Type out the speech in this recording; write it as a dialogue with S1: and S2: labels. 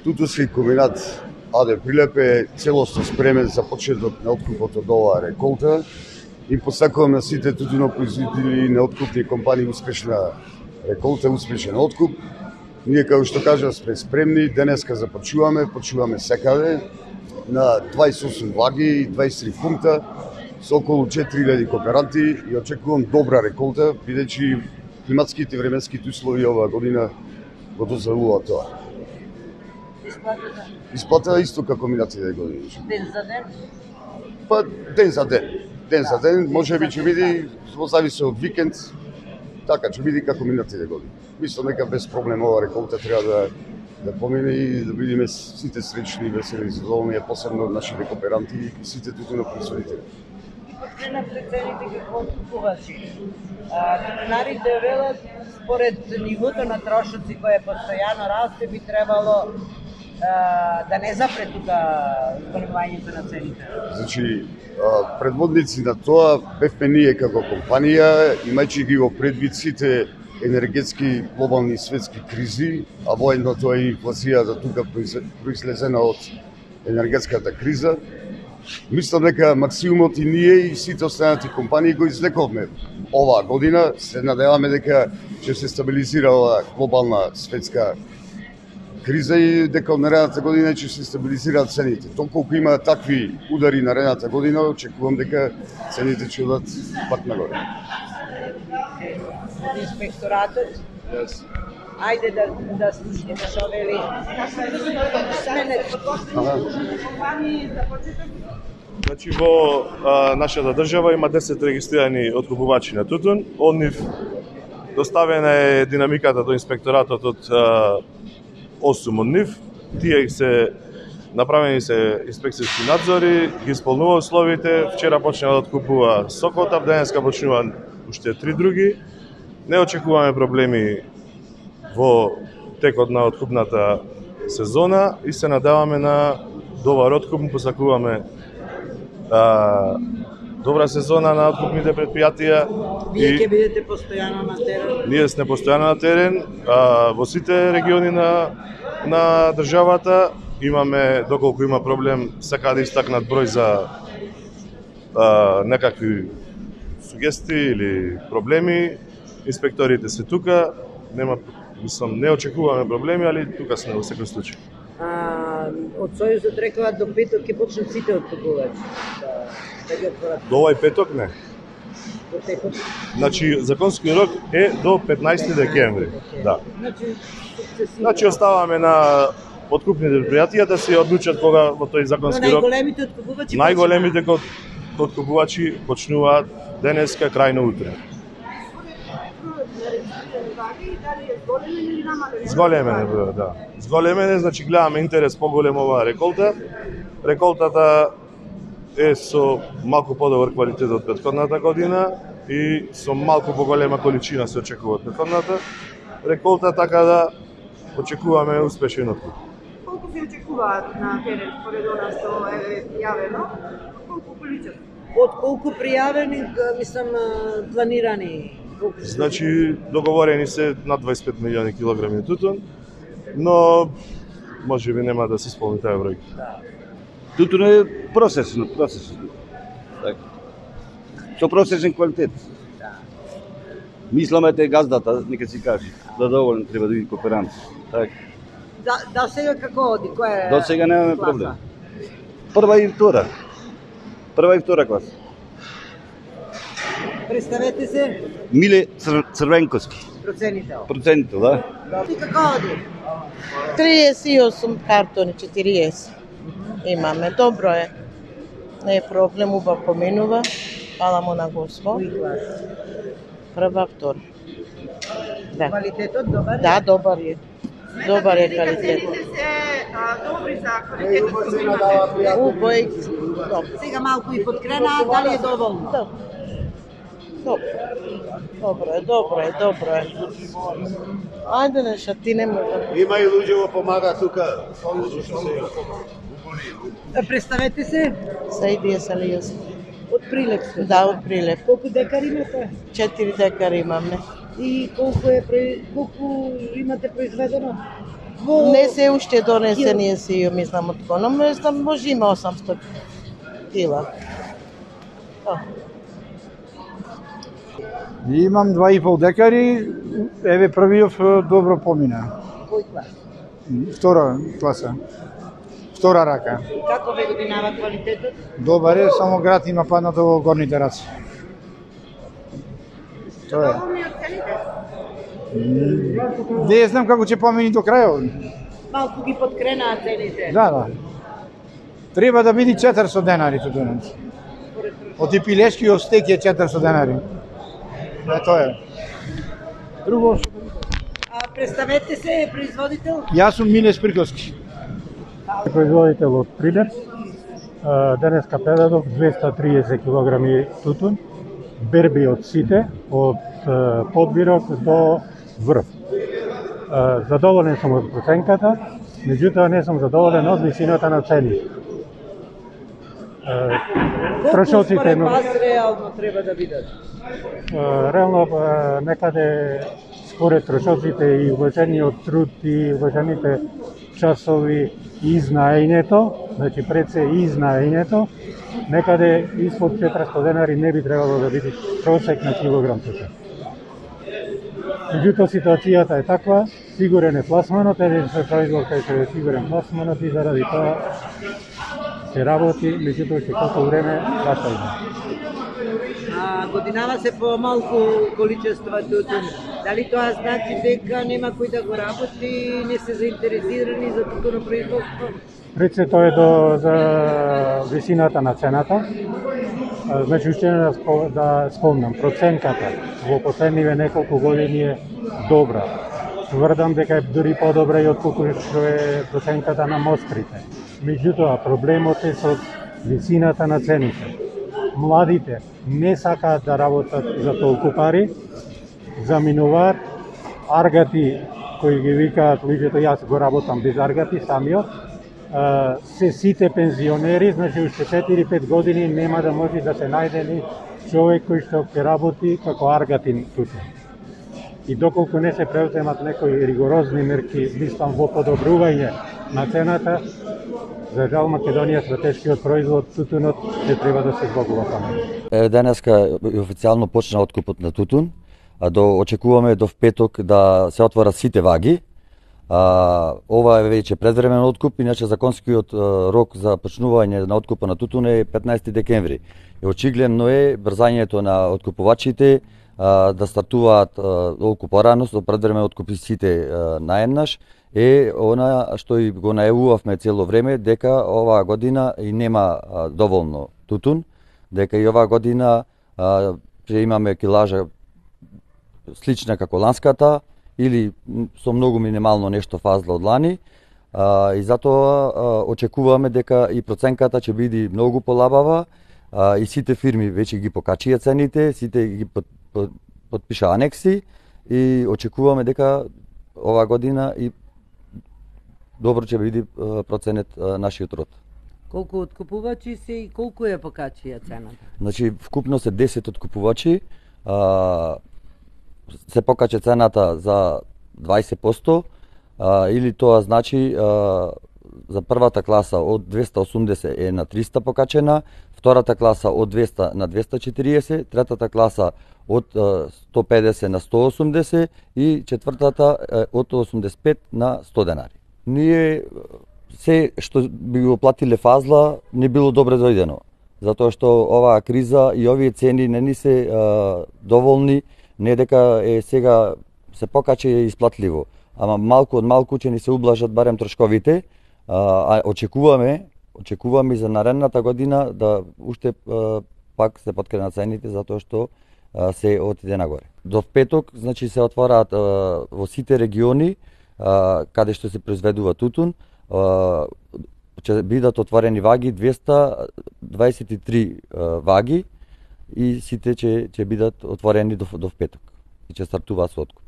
S1: Тутуски комбинат АД Прилеп е целосно спремен за почеток на откупот од оваа реколта и посакувам на сите тутунопроизводители и неоткупни компании успешна реколта, успешен откуп. Ние, како што кажа, сме спремни, денеска почуваме секаде на 28 ваги и 23 пункта со околу 4000 кооперанти и очекувам добра реколта, бидејќи климатските и временските услови оваа година го дозволуваат тоа. Исплата исто како минатите години.
S2: Ден за ден?
S1: Па ден за ден. Ден за ден, можеби ќе биде, во зависи од викенд, така ќе биде како минатите години. Мислам дека без проблем оваа реколта треба да помине и да бидеме сите среќни, весели и задоволни, посебно нашите кооперанти и сите тутунопроизводители.
S2: Подкренавте цените како откупувачи. Тутунарите велат според нивото на трошоци кое постојано расте би требало да не запре тука зголемувањето на цените.
S1: Значи, предводници на тоа бевме ние како компанија, имајќи ги во предвид сите енергетски глобални светски кризи, а воедно тоа е инфлацијата тука произлезена од енергетската криза. Мислам дека максимумот и ние и сите останати компании го извлековме оваа година. Се надеваме дека ќе се стабилизира оваа глобална светска криза и дека од наредната година ќе се стабилизираат цените. Доколку има такви удари наредната година, очекувам дека цените ќе одат пак нагоре.
S2: Инспекторатот?
S1: Yes.
S2: Ајде да слушаме што вели.
S3: Значи во нашата држава има 10 регистрирани откупувачи на тутун. Од нив доставена е динамиката до инспекторатот од 8 од нив. Тие се направени се инспекцијски надзори, ги исполнува условите. Вчера почна да откупува Сокотав, денеска почнува уште 3 други. Не очекуваме проблеми во текот на откупната сезона и се надеваме на добар откуп. Посакуваме добра сезона на откупните предпријатија.
S2: Вие ќе бидете постојано на терен?
S3: Ние сме постојано на терен во сите региони на државата. Имаме, доколку има проблем, сака да истакнат број за некакви сугестии или проблеми. Инспекторите се тука, не очекуваме проблеми, али тука сме во секој случај.
S2: Од Сојузот рекоа до петок ќе почнат сите откупувачи.
S3: До овај петок не.
S2: До петок?
S3: Значи, законски рок е до 15 декември. Да. Значи, оставаме на откупните предпријатија да се одлучат кога во тој законски рок.
S2: Најголемите откупувачи?
S3: Најголемите откупувачи почнуваат денеска крајно утре. Зголемене, да. Зголемене, значи гледаме интерес поголем оваа реколта. Реколтата е со малку подобар квалитет од претходната година и со малку поголема количина се очекува од претходната реколта, така да очекуваме успешен откуп.
S4: Колку се очекуваат на терен според она што е јавено? Колку количество?
S2: Од колку пријавени, мислам, планирани?
S3: Значи, договорени се над 25 милиони килограми тутун, но можеби нема да се исполни таа бројка.
S5: Тутун е процесно. Така. Со процесен квалитет. Мисламе те газдата, нека си каже, да доволен треба да биде кооперант. Така.
S2: Да сега како оди? Која е?
S5: До сега немаме проблем. Прва и втора класа.
S2: Представете се.
S5: Миле Црвенковски. Процентител, да.
S2: Ти како оди?
S6: 38 картони, 40. Имаме, добро е. Не е проблем, убав поминува. Фала му на Господ. Прва, втора. Да.
S2: Квалитетот добар е?
S6: Да, добар е. Добар е квалитет.
S4: Цените се добри за квалитетот што имате?
S6: Убај.
S2: Сега малку и подкрена, дали е доволно?
S6: Добро е. Ајде неша, ти не може.
S7: Има и луѓе во помага тука.
S2: Представете се.
S6: Саидија Салијас.
S2: Од Прилеп сте?
S6: Да, од Прилеп.
S2: Колку декари имате?
S6: 4 декари имаме.
S2: И колку имате произведено?
S6: Не се уште донесени се ја мислам од коно, мислам може има 800 кила.
S8: Имам 2,5 декари, еве првиот добро помина.
S2: Кој клас?
S8: Втора класа. Втора рака.
S2: Како ве годинава квалитетот?
S8: Добар е, само град има паднато во горните раци. Тоа е. Не знам како ќе помини до крајот.
S2: Малку ги подкренаа цените.
S8: Да. Треба да биде 400 денари тутунот. Од пилешкиот стек е 400 денари. Тоа е. Друго што...
S2: Представете се, производител?
S8: Јас сум Миле Спирковски.
S9: Производител од Прилеп. Денеска предадов 230 кг тутун, берби од сите, од подбирок до врв. Задоволен сум од проценката, меѓутоа не сум задоволен од висината на цени.
S2: Колку според вас реално треба да бидат?
S9: Реално некаде според трошоците и уважениот труд и уважените часови и знаењето, значи пред се и знаењето, некаде испод 400 денари не би требало да биде просек на килограм тутун. Меѓутоа ситуацијата е таква, сигурен е пласманот, еден се производ кај се е сигурен пласманот и заради тоа се работи, меѓутоа ќе колку време баша има.
S2: Годинава се помалку количества тутун. Дали тоа значи дека нема кој да го работи и не се заинтересирани за тутунопроизводство?
S9: Пред се тоа е за висината на цената. Значи, уште да спомнам, проценката во последниве неколку години е добра. Тврдам дека е дури подобра и отколку што е проценката на мострите. Меѓутоа, проблемот е со висината на цените. Младите не сакаат да работат за толку пари, заминуваат аргати кои ги викаат луѓето, јас го работам без аргати самиот, се сите пензионери, значи уште 4-5 години нема да може да се најде ни човек кој што ќе работи како аргатин тутун. И доколку не се преуземат некои ригорозни мерки, мислам во подобрување на цената, за жал Македонија стратешкиот производ тутунот не треба да се збогува само.
S10: Денеска официјално почна откупот на тутун, очекуваме до петок да се отворат сите ваги. Ова е веќе предвремен откуп, иначе законскиот рок за почнување на откупа на тутун е 15 декември. И очигледно е брзањето на откупувачите да стартуваат толку порано со предвремен откупи сите наеднаш, е она што и го најавувавме цело време, дека оваа година и нема доволно тутун, дека и оваа година ќе имаме килажа слична како ланската, или со многу минимално нешто фазла од лани, и затоа очекуваме дека и проценката ќе биде многу полабава, и сите фирми веќе ги покачија цените, сите ги подпиша анекси, и очекуваме дека оваа година и добро ќе биде проценет нашиот род.
S2: Колку откупувачи се и колку ја покачија цената?
S10: Значи, вкупно се 10 откупувачи, се покача цената за 20%, или тоа значи за првата класа од 280 е на 300 покачена, втората класа од 200 на 240, третата класа од 150 на 180 и четвртата од 85 на 100 денари. Ние се што би го платиле фазла не било добре дојдено, затоа што оваа криза и овие цени не ни се доволни, не дека е сега се покаче и исплатливо, ама малку од малку ќе ни се ублажат барем трошковите, а очекуваме за наредната година да уште пак се подкренат цените затоа што се отиде нагоре. До петок, значи се отвораат во сите региони каде што се произведува тутун, ќе бидат отворени ваги 223 ваги и сите ќе бидат отворени до петок и ќе стартуваат со откуп.